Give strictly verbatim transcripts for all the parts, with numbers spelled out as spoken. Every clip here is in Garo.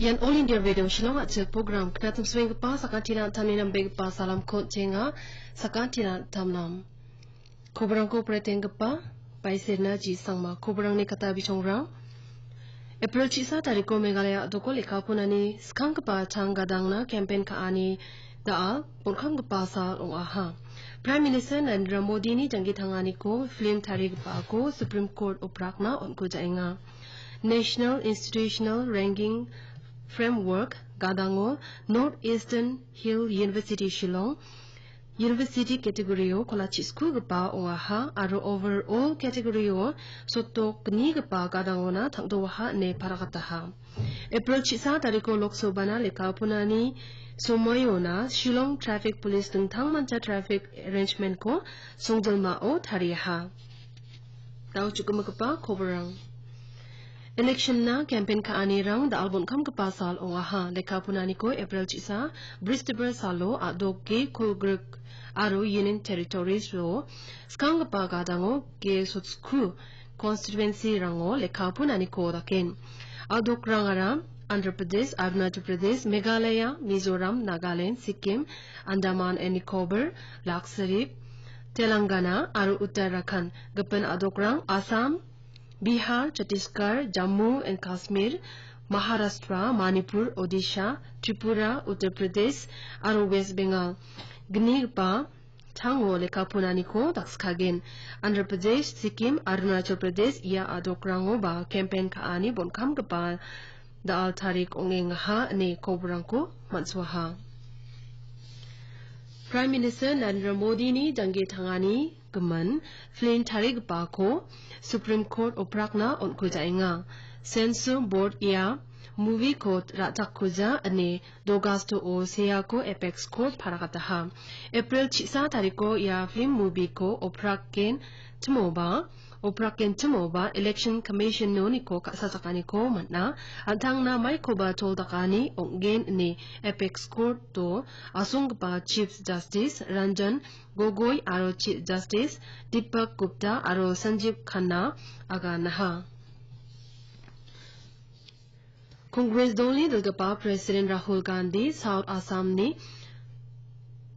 Ian All India Radio Shillong a·chik program, knatim suenggipa sakantina an·tangni nambegipa salamko on·chenga, sakantina an·tamnam. Kobrangko pretenggipa, Baisirna G. Sangma, kobrangni kata bichongrang. April chisa tariko Meghalaya a·doko lekka ponani skanggipa chang gadangna campaign ka·ani da·al bonkamgipa sal ong·aha. Prime Minister Narendra Modini janggi tanganiko film tarigipako Supreme Court oprakna on·kujaenga. National Institutional Ranking Framework gadango North Eastern Hill University Shillong University category-o kolachi skugipa ong·aha aro overall category-o sotok gnigipa gadangona tangdoaha ine paragataha. April chisa tariko Lok Sabhana lekka ponani somoiona Shillong Traffic Police dingtangmancha traffic arrangement-ko songjilmao tariaha. Dao chukgipa koborang. Election-na campaign ka·anirang da·al bonkamgipa sal ong·aha. Lekka ponaniko April chisa, Bristibar salo a·dok ge kolgrik aro Union Territories-o skanggipa gadango ge sotsku constituency-rango lekka ponaniko daken. A·dokrangara Andhra Pradesh, Arunachal Pradesh, Meghalaya, Mizoram, Nagaland, Sikkim, Andaman and Nicobar, Lakshadweep, Telangana aro Uttarakhand. Gipin a·dokrang Assam, Bihar, Chhattisgarh, Jammu and Kashmir, Maharashtra, Manipur, Odisha, Tripura, Uttar Pradesh aro West Bengal. Gnigipa chango lekka ponaniko dakskagen. Andhra Pradesh, Sikkim, Arunachal Pradesh ia a·dokrangoba campaign ka·ani bonkamgipa da·al tarik ong·engaha ine koborangko man·suaha. Prime Minister Narendra Modini janggi tangani gimin film tarigipako Supreme Court oprakna on·kujaenga. Censor Board ia movie-ko ra·chakkuja ine Dogasto-o seako Apex Court paragataha. April chisa tariko ia film movie-ko opraken timoba, opraken timoba Election Commission-oniko ka·sachakaniko man·a. An·tangna maikoba tol dakani ong·gen ine Apex Court-o asonggipa Chief Justice Ranjan Gogoi aro Chief Justice Deepak Gupta aro Sanjeev Khanna aganaha. Congress dolni dilgipa President Rahul Gandhi South Assamni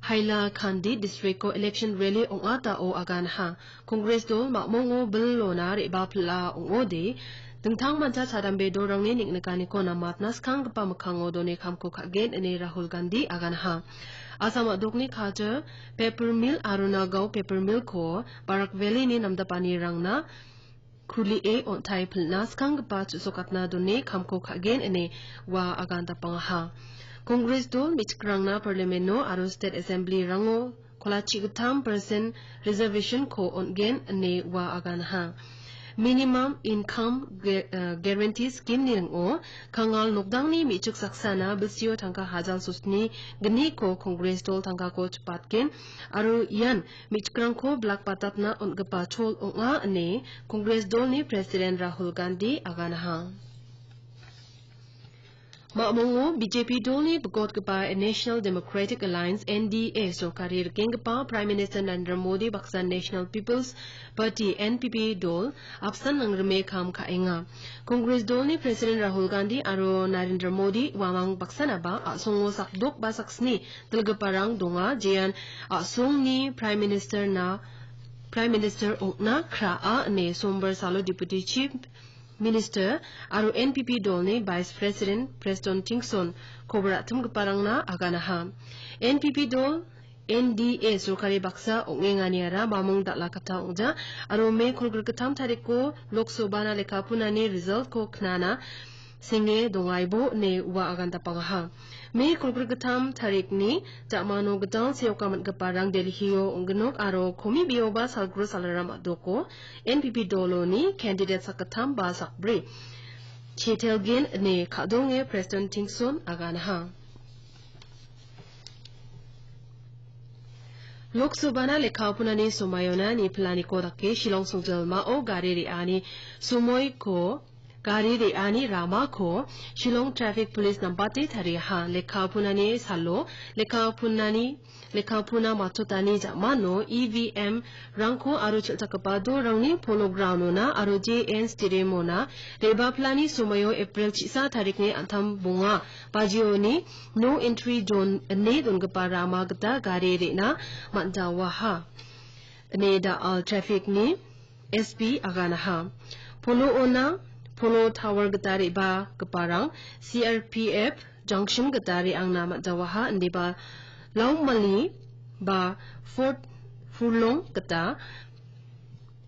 Hailakandi districto election rally ong·atao aganaha. Congress dol ma·mongo bilona re·bapila ong·ode, dingtangmancha chadambe dolrangni neng·nikaniko namatna skanggipa mikkango done kamko ka·gen ine Rahul Gandhi aganaha. Assam a·dokni Kachar paper mill aro Nagaon paper millko Barak Valleyni namdapanirangna kulie on·tai pilna skanggipa chu·sokatna done kamko ka·gen ine ua agan dapangaha. Congress dol me·chikrangna Parliament-o aro State Assembly-rango kolachi gittam percent reservation-ko on·gen ine ua aganaha. Minimum Income Gu-, eh, Guarantee Scheme-ni ning·o kangal nokdangni me·chik saksana bilsio tangka hajal sosni gniko Congress dol tangkako chipatgen aro ian me·chikrangko bilak batatna on·gipa chol ong·a ine Congress dolni President Rahul Gandhi aganaha. Ma·mongo B J P dolni bikotgipa National Democratic Alliance, N D A, sorkari rikenggipa Prime Minister Narendra Modi baksa National People's Party, N P P, dol apsan nangrime kam ka·enga. Congress dolni President Rahul Gandhi aro Narendra Modi uamang baksanaba a·songo sakdok ba saksni dilgiparang donga, jean a·songni Prime Minister-na, Prime Minister ong·na kra·a ine Sombar salo Deputy Chief Minister aro N P P dolni Vice President Preston Tingson kobar a·timgiparangna aganaha. N P P dol N D A sorkari baksa ong·enganiara mamung dal·a katta ong·ja aro Me kolgrik gittam tariko Lok Sabhana lekka ponani result-ko knana senge dongaibo ine ua agan dapangaha. Me kolgrik gittam tarikni ja·mano gital seoka man·giparang Delhi-o ong·ginok aro komibioba salgro salram a·doko N P P doloni candidate sakgittam ba sakbri chetelgen ine ka·donge Preston Tingson aganaha. Lok Sabhana lekka ponani somoiona ni planiko dake Shillong songjilmao gari re·ani somoiko gari re·ani ramako Shillong Traffic Police nambate tariaha. Lekka punani salo, lekka punani, lekka puna matchotani ja·mano E V M rangko aro chel·chakgipa dolrangni Polo Ground-ona aro J N Stadium-ona re·baplani somoio April chisa tarikni an·tam bonga bajioni no entry zone ine dongipa rama gita gari re·na man·jaoaha, ine da·al traffic-ni S P aganaha. Polo-ona, Polo Tower gita re·bagiparang C R P F junction gita re·angna man·jaoaha, indiba Laumali ba Fort Furlong gita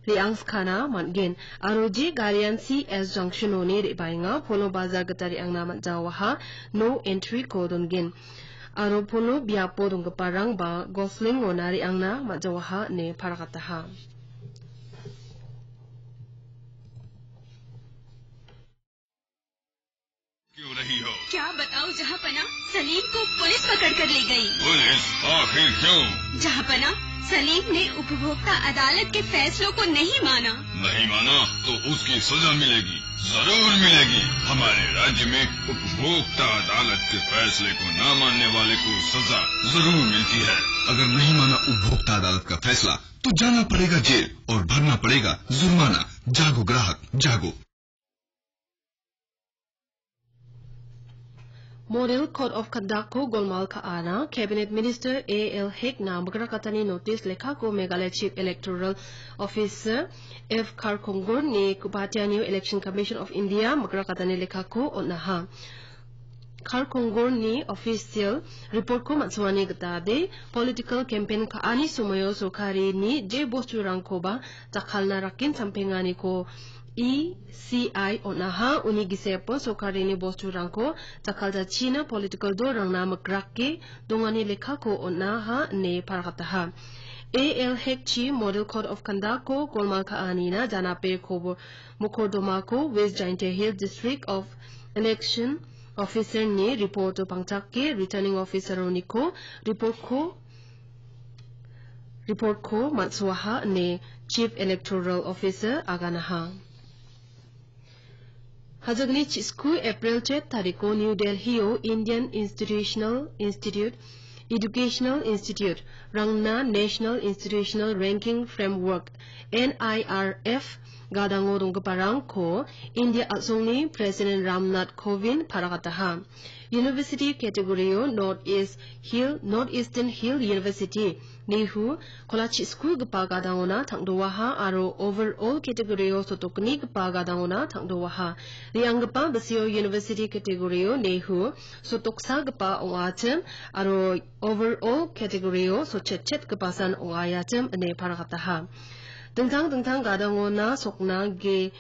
re·angskana man·gen. Aro je garian C S junction-oni re·baenga, Polo Bazar gita re·angna man·jaoaha, no entry-ko dongen. Aro Polo biapo donggiparangba Gosling-ona re·angna man·jaoaha ine paragataha. क्यों रही हो? क्या बताऊं जहांपना, सलीम को पुलिस पकड़ कर ले गई। पुलिस? आखिर क्यों? जहांपना, सलीम ने उपभोक्ता अदालत के फैसलों को नहीं माना। नहीं माना तो उसकी सजा मिलेगी, जरूर मिलेगी। हमारे राज्य में उपभोक्ता अदालत के फैसले को ना मानने वाले को सजा जरूर मिलती है। अगर नहीं माना उपभोक्ता अदालत का फैसला, तो जाना पड़ेगा जेल और भरना पड़ेगा जुर्माना। जागो ग्राहक, जागो। Model Code of Conduct-ko golmal ka·ana, Cabinet Minister A L Hek-na migrakatani notice lekkako Meghalaya Chief Electoral Officer F Kharkongor-ni Guwahati-anio Election Commission of India migrakatani lekkako on·aha. Kharkongor-ni official report-ko man·songani gita de, political campaign ka·ani somoio sorkarini je bosturangkoba jakkalna rakken sampenganiko E C I on·aha, uni gisepo sorkarini bosturangko jakkaljachina political dolrangna migrake dongani lekkako on·aha ine paragataha. A L Hek-chi Model Code of Conduct-ko golmal ka·anina janape kobo-, mokordomako West Jaintia Hills District of Election Officer-ni report-o pangchake Returning Officer-oniko report-ko report-ko man·soaha ine Chief Electoral Officer aganaha. Hajagni chisku April chet tariko New Delhi-o Indian Institutional Institute, Educational Institute rangna National Institutional Ranking Framework, N I R F, gadango donggiparangko India a·songni President Ramnath Kovind paragataha. University category-o North East Hill, North Eastern Hill University, Nehu, kolachi skulgipa gadangona tangdoaha aro overall category-o sotokgnigipa gadangona tangdoaha. Re·anggipa bisio University category-o Nehu, sotoksagipa ong·achim aro overall category-o sotchetchetgipasan ong·aiachim ine paragataha. Dingtang dingtang gadangona sokna ge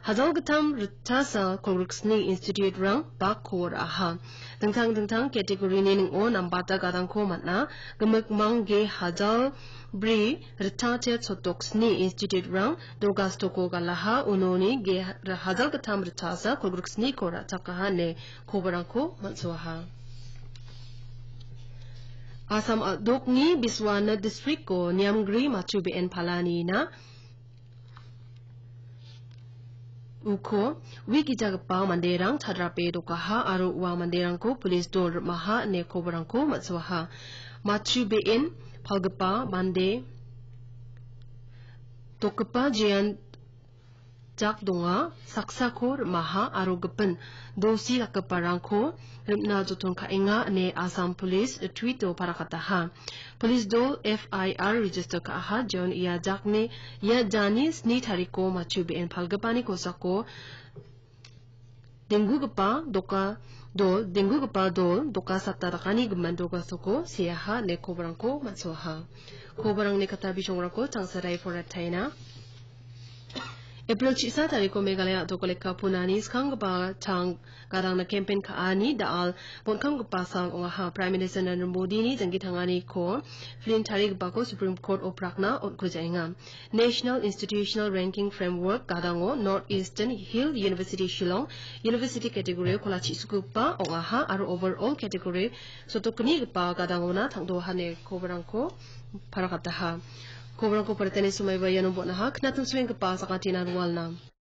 Hajalgittam ritchasa kolgriksni institute-rang bakko ra·aha. Dingtang dingtang category-ni ning·o nambata gadangko man·a. Gimikmang ge hajal bri ritchachet sotoksni institute-rang dolgastoko galaha, unoni ge hajalgittam ritchasa kolgriksniko ra·chakaha ine koborangko man·soaha. Assam a·dokni Biswanath district-o Niamgri Machu Be·en palanina uko ui gijagipa manderang chadrape dokaha aro ua manderangko police dol rim·aha ine koborangko man·soaha. Machu Be·en palgipa mande dokgipa jean jak donga, saksako rim·aha aro gipin dosi dakgiparangko rim·na joton ka·enga ine Assam Police tweet-o parakataha. Police dol F I R register ka·aha, John ia jakni, ia jani sni tariko Machu Be·en palgipani kosako denggugipa doka dol, denggugipa dol doka satta dakani gimin dolgastoko seaha ine koborangko man·soaha. Koborangni katta bisongrangko changsarai porataina. April chisa tariko Meghalaya a·doko lekka punani skanggipa chang gadangna campaign ka·ani da·al bonkamgipa sal ong·aha. Prime Minister Narendra Modini janggi tanganiko film tarigipako Supreme Court-o prakna on·kujaenga. National Institutional Ranking Framework gadango North Eastern Hill University Shillong University category-o kolachi sugipa ong·aha aro overall category sotokgnigipa gadangona tangdoaha ine koborangko parakataha. Koborangko paritani somaiba iano bon·aha, knatim soenggipa sakatina rualna.